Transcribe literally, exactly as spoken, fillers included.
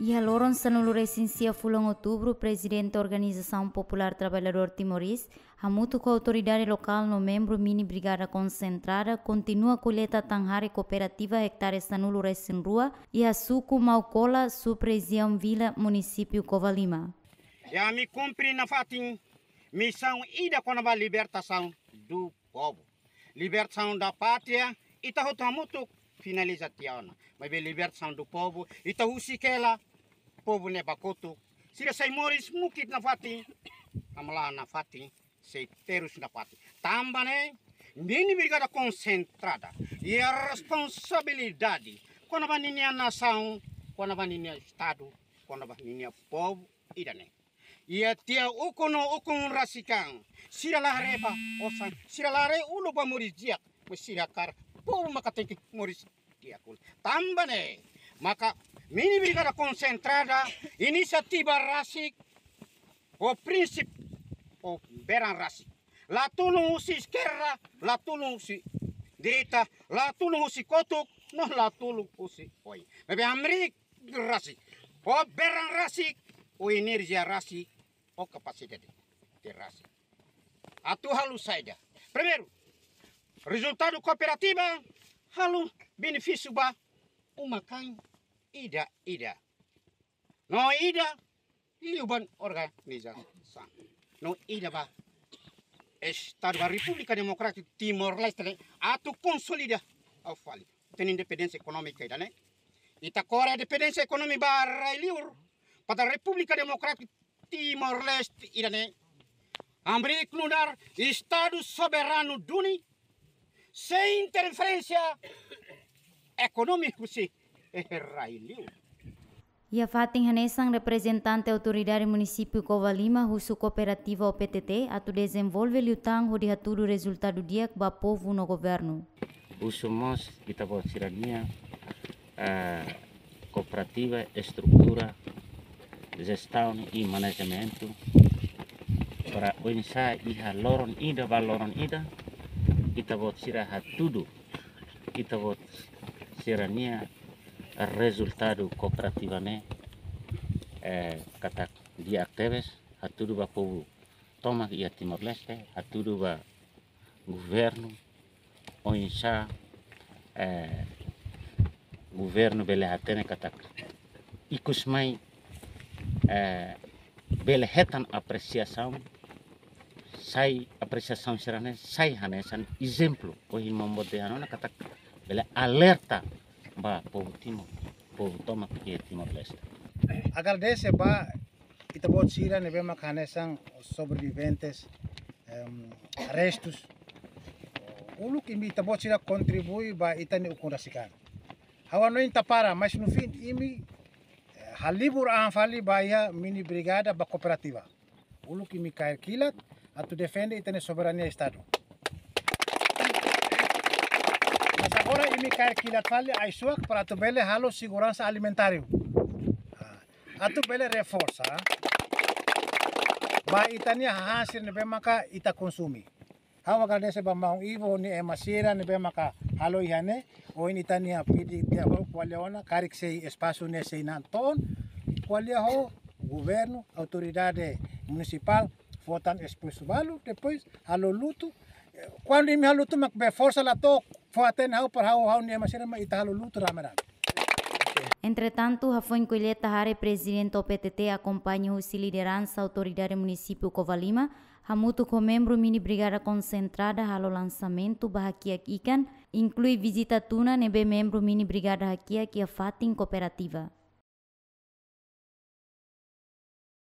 Iha loron sanulu-resin-sia fulan Outubru, Prezidente Organizasaun Populár Traballadór Timorés, hamutuk ho autoridade lokál no membru mini brigada konsentrada, kontinua koleta tan-hare kooperativa ektare sanulu-resin-rua, iha suku Maukola, sub-rejiaun Vila, munisípiu Covalima. I ami kumpre nafatin misaun ida kona-ba libertasaun do povu. Libertasaun da pátria, ita hotu hamutuk finaliza tiha ona. Maibé libertasaun do povu, ita husik hela povu ne'e ba kotuk. Sira sai moris mukit nafatin, hamlaha nafatin, sei terus nafatin. Tanba ne'e, mini brigada konsentrada iha responsabilidade kona-ba ninia nasaun, kona-ba ninia estadu, kona-ba ninia povu ida-ne'e. Iha tiha ukun no ukun rasik an, sira la haree ba osan, sira la haree uluk ba moris di'ak, mas sira hakarak povu maka tenke moris di'ak. Tanba ne'e maka mini brigada konsentrada, inisiativa rasik, ho prinsípiu, ho beran rasik. La tulun husi eskerda, la tulun husi direita, la tulun husi kotuk, no la tulun husi oin. Maibé hamriik rasik, ho beran rasik, ho enerjia rasik, ho kapasidade rasik. Atu halo saida? Primeiru, rezultadu kooperativa halo benefísiu ba uma-kain ida-ida. No ida liu ba organizasaun. No ida ba Estadu ba Repúblika Demokrátika Timor-Leste ne'e atu konsolida fali ita-nia independénsia ekonómika ida-ne'e. Ita kore independénsia ekonómika ba rai-liur, para Repúblika Demokrátika Timor-Leste ida-ne'e. Hamriik nu'udar Estadu soberanu duni, sein interferénsia ekonómika husi rai-liur. Iha fatin hanesan, reprezentante autoridade munisípiu Covalima husu kooperativa O P T T atu dezenvolve liután hodi hatudu rezultadu di'ak ba povu no governu. Husu mós ita-boot sira-nia, eh, kooperativa, estrutura, jestaun i manajementu, para oinsá iha loron ida ba loron ida, ita-boot sira hatudu ita-boot sira-nia rezultadu kooperativa ne'e, eh, katak di'ak tebes, hatudu ba povu tomak iha Timor-Leste, hatudu ba governu, oinsá, eh, governu bele hatene katak ikus mai, eh, bele hetan apresiasaun, sai apresiasaun sira-ne'e sai hanesan ezemplu, ohin maun-boot dehan ona katak bele alerta ba povu Timor, povu tomak iha Timor-Leste. Agradese ba ita-boot sira ne'ebé maka hanesan sobreviventes, em, restus. Uluk imi ita-boot sira kontribui ba ita-nia ukun rasik an. Ha'u hanoin ita para, mas no fim imi, eh, halibur an fali ba iha mini brigada ba kooperativa. Uluk imi kaer kilat atu defende ita-nia soberania Estadu. Mas agora imi kaer kilat fali ai-suak para atu bele halo seguransa alimentáriu. Ah, atu bele reforsa ba ita-nia hahán sira ne'ebé maka ita konsume. Ha'u agradese ba maun Ivo nia ema sira ne'ebé maka halo iha ne'e, ohin ita-nia pidi tiha ba ko'alia ona, karik sei espasu ne'e sei natoon, ko'alia ho governu, autoridade munisipál, fó tan espasu balu, depois halo lutu. Kuandu imi halo lutu mak be forsa la to'o, fó-hatene ha'u para ha'u, ha'u-nia ema sira mak ita halo lutu rame-rame. Entretantu, hafoin koleta hare, Prezidente O P T T akompaña husi lideransa autoridade munisípiu Covalima, hamutuk ho membru mini brigada konsentrada halo lansamentu ba hakiak ikan, inklui vizita tuna ne'ebé membru mini brigada hakiak iha fatin kooperativa.